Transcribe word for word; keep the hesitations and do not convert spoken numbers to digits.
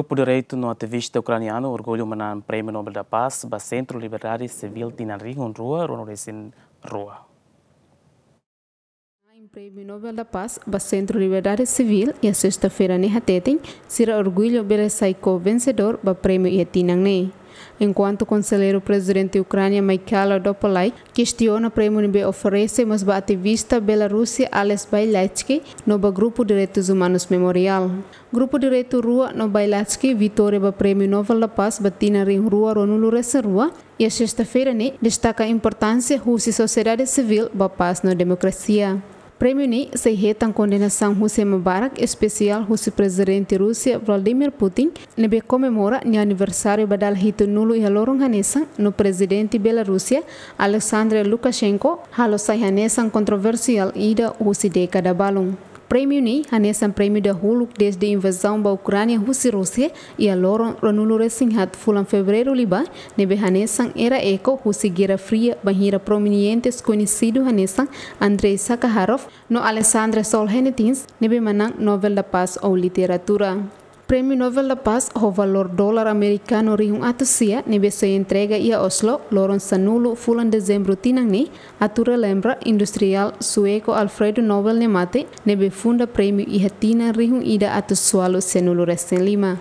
Grupu direitu no ativista ukranianu orgullu manán Prémiu Nobel da Paz ba Sentru Liberdade Sivíl tinan rihun rua ruanulu-resin-rua. Prémiu Nobel da Paz ba Sentru Liberdade Sivíl iha sesta-feira ne'e hateten, sira orgullu bele sai ko-vensedór ba prémiu iha tinan ne'e. Enkuantu Konselleiru Prezidente Ukránia Mikhailo Podolyak kestiona prémiu ne'ebé oferese mós ba ativista Bielorrúsia Ales Bialiatski no ba grupu direitus umanus Memorial. Grupu direitu rua no Bialiatski vitória ba Prémiu Nobel da Paz ba tinan rihun rua ruanulu-resin-rua iha sesta-feira ne'e destaka importánsia husi sosiedade sivíl ba pás no demokrasia. Prémiu ne'e sei hetan kondenasaun husi ema barak, espesiál husi Prezidente Rúsia Vladimir Putin, ne'ebé komemora nia aniversáriu ba dala hitunulu iha loron hanesan, no Prezidente Bielorrúsia Alexander Lukashenko halo sai hanesan kontroversiál ida husi dékada balun. Prémiu ne'e hanesan prémiu dahuluk dezde invazaun ba Ukránia husi Rúsia iha loron ruanulu-resin-haat fulan Fevereiru liubá, ne'ebé hanesan era eku husi Guerra Fria bainhira prominentes koñesidu hanesan Andrei Sakharov no Alexander Solzhenitsyn ne'ebé manán Nobel da Paz ou Literatura. Prémiu Nobel da Paz ho valór dolar amerikanu rihun atus sia ne'ebé sei entrega iha Oslo loron sanulu fulan Dezembru tinan ne'e atu relembra industriál sueku Alfred Nobel nia mate, ne'ebé funda prémiu iha tinan rihun ida atus ualu sianulu-resin-lima.